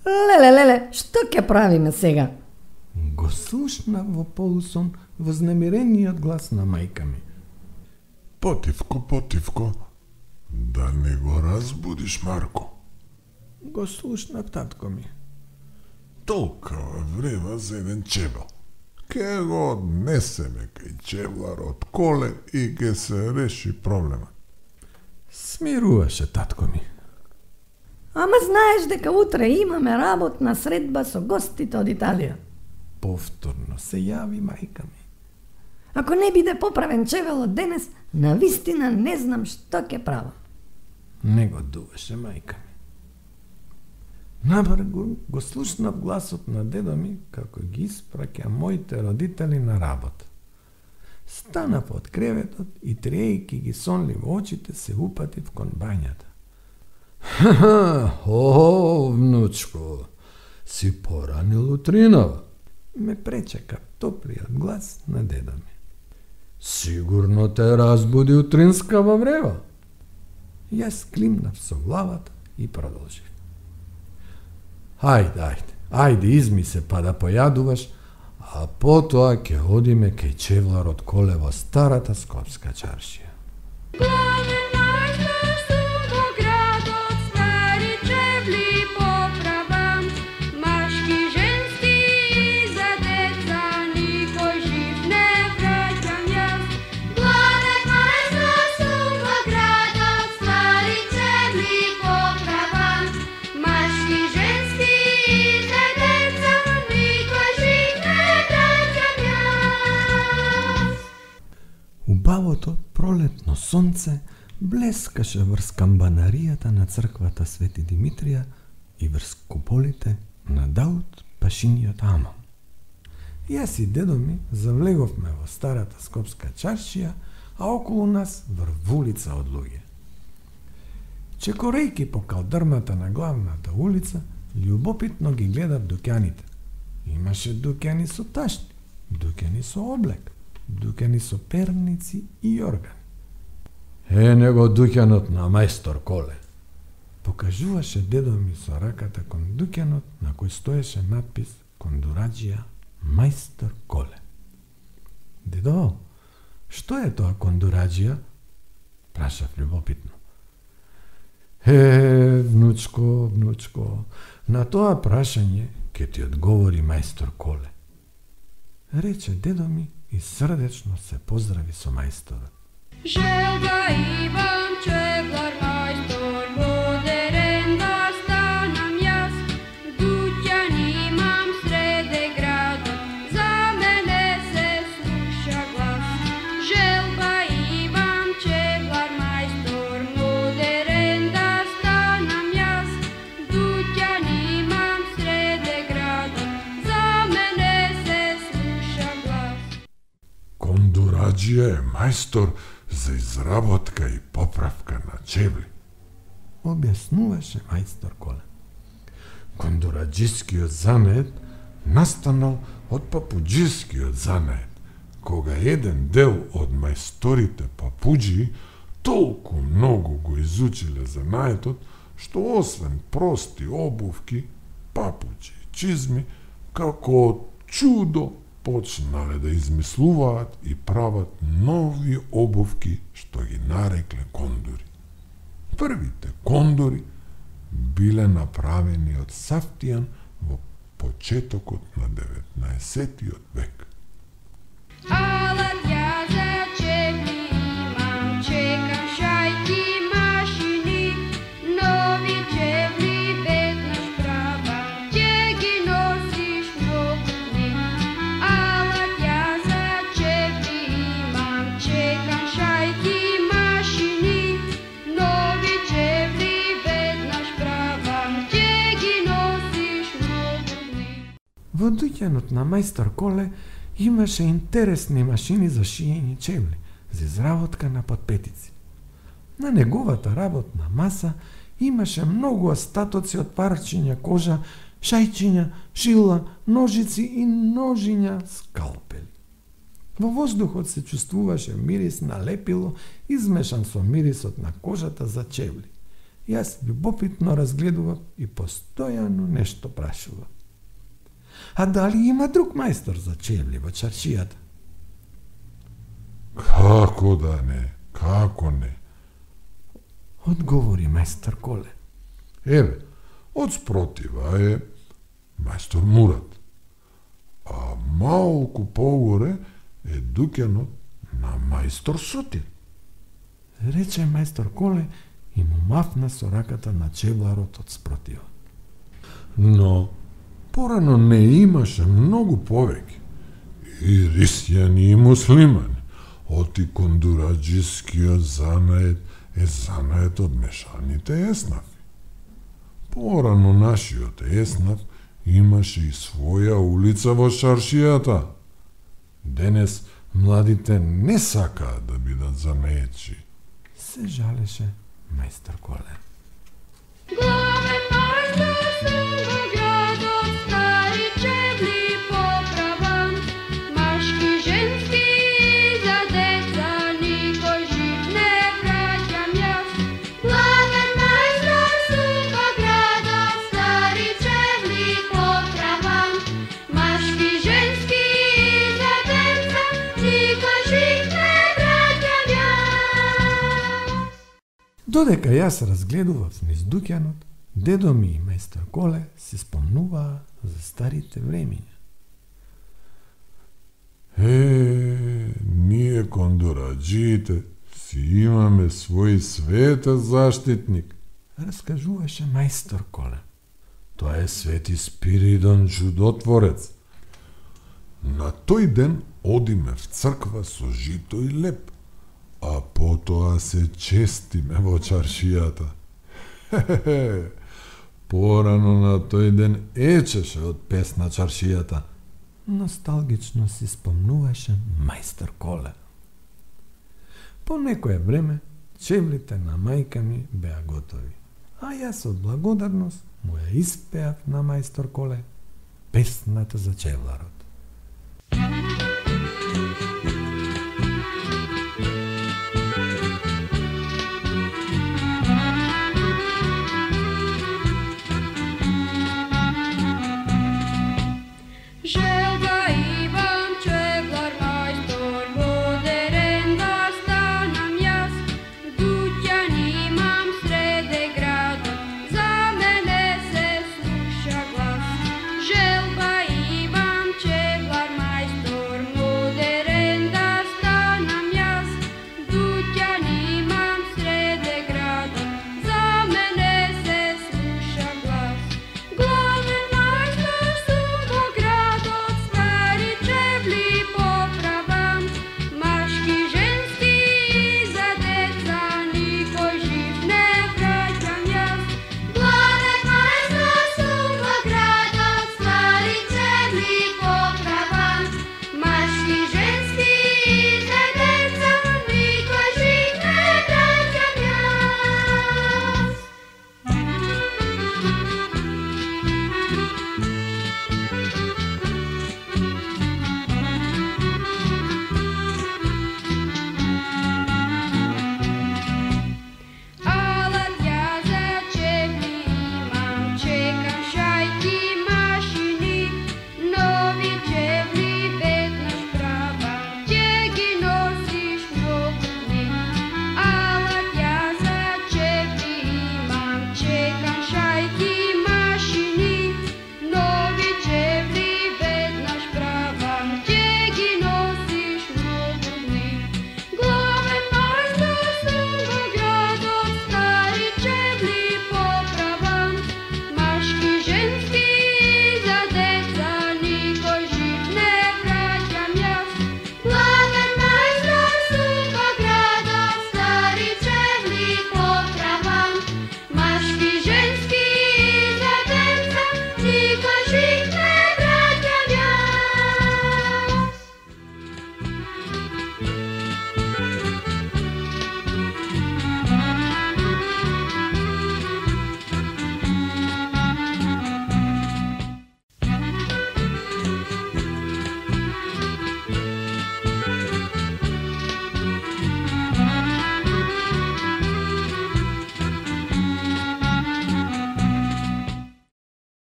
Леле, што ќе правиме сега? Го слушнав во полусон вознемирениот глас на мајка ми. Потивко, да не го разбудиш Марко. Го слушнав татко ми. Толкава врева за еден чебел. Ке го однесеме кај чевлар од коле и ке се реши проблема. Смируваше татко ми. Ама знаеш дека утре имаме работна средба со гостите од Италија. Повторно се јави мајка ми. Ако не биде поправен чевелот денес, навистина не знам што ќе правам. Не го дуваше мајка ми. Набргу го слушнав гласот на дедо ми како ги испраќа моите родители на работа. Станав од креветот и трејки ги сонливо очите се упатив кон бањата. О, внучко, си поранил утринава. Ме пречека топлиот глас на дедо ми. Сигурно те разбуди утринскава врева. Јас климнав со главата и продолжив. Ајде, изми се па да појадуваш, а потоа ќе одиме кај чевлар од коле во старата скопска чаршија. Убавото пролетно сонце блескаше врз камбанаријата на црквата Свети Димитрија и врз куполите на Даут Пашиниот амон. Јас и дедо ми завлеговме во старата скопска чаршија, а околу нас врвулица од луѓе. Чекорејки по калдрмата на главната улица, љубопитно ги гледав дуќаните. Имаше дуќани со ташни, дуќани со облек, дуќани со перници и органи. Него дуќанот на мајстор Коле. Покажуваше дедо ми со раката кон дуќанот на кој стоеше надпис Кондураџија мајстор Коле. Дедо, што е тоа кондураџија? Прашав љубопитно. Внучко, на тоа прашање ќе ти одговори мајстор Коле. Рече дедо ми и срдечно се поздрави со мајсторот. Желба имам чевлар мајстор модерен да станам јас, дуќан имам среде градот, за мене се слуша глас. Желба имам чевлар мајстор модерен да станам јас, дуќан имам среде градот, за мене се слуша глас. Кондураџија е мајстор за изработка и поправка на чевли, објаснуваше мајстор Коле. Кондураџискиот занет настанал од папуџискиот занет, кога еден дел од мајсторите папуџи толку многу го изучиле занаетот, што освен прости обувки, папуџи и чизми, како од чудо почнале да измислуваат и прават нови обувки што ги нарекле кондури. Првите кондури биле направени од сафтијан во почетокот на 19. век. Алат ја за чевли имам, чекам шајки машини, нови чевли веднаш правам, ќе ги носиш многу дни. Алат ја за чевли имам, чекам шајки машини, нови чевли веднаш правам, ќе ги носиш многу дни. Во дуќанот на мајстор Коле имаше интересни машини за шиење чевли, за изработка на подпетици. На неговата работна маса имаше многу остатоци од парчиња кожа, шајчиња, шила, ножици и ножиња скалпели. Во воздухот се чувствуваше мирис на лепило измешан со мирисот на кожата за чевли. Јас љубопитно разгледував и постојано нешто прашував. А дали има друг мајстор за чевли во чаршијата? Како да не, како не. Одговори мајстор Коле. Еве, од спротива е мајстор Мурат, а малку погоре е дуќанот на мајстор Сотир. Рече мајстор Коле и му мафна со раката на чевларот од спротива. Но порано не имаше многу повеќе. И христијани и муслимани. Оти кондураджискиот занает е занает од мешаните еснафи. Порано нашиот еснаф имаше и своја улица во чаршијата. Денес младите не сакаат да бидат занаетчи. Се жалеше мајстор Коле. Главен мајстор во градот, стари чевли поправам, машки, женски и за деца, никој жив не враќам јас. Главен мајстор во градот, стари чевли поправам, машки, женски и за деца, никој жив не враќам јас. Додека јас разгледував низ дуќанот, дедо ми и мајстор Коле се спомнуваа за старите времиња. Ние кондураджиите си имаме свој светен заштитник. Раскажуваше мајстор Коле. Тоа е Свети Спиридон Чудотворец. На тој ден одиме в црква со жито и леп, а потоа се честиме во чаршијата. Порано на тој ден ечеше од пес на чаршијата. Носталгично си спомнуваше мајстор Коле. По некое време, чевлите на мајка ми беа готови, а јас од благодарност му ја испеав на мајстор Коле песната за чевларот.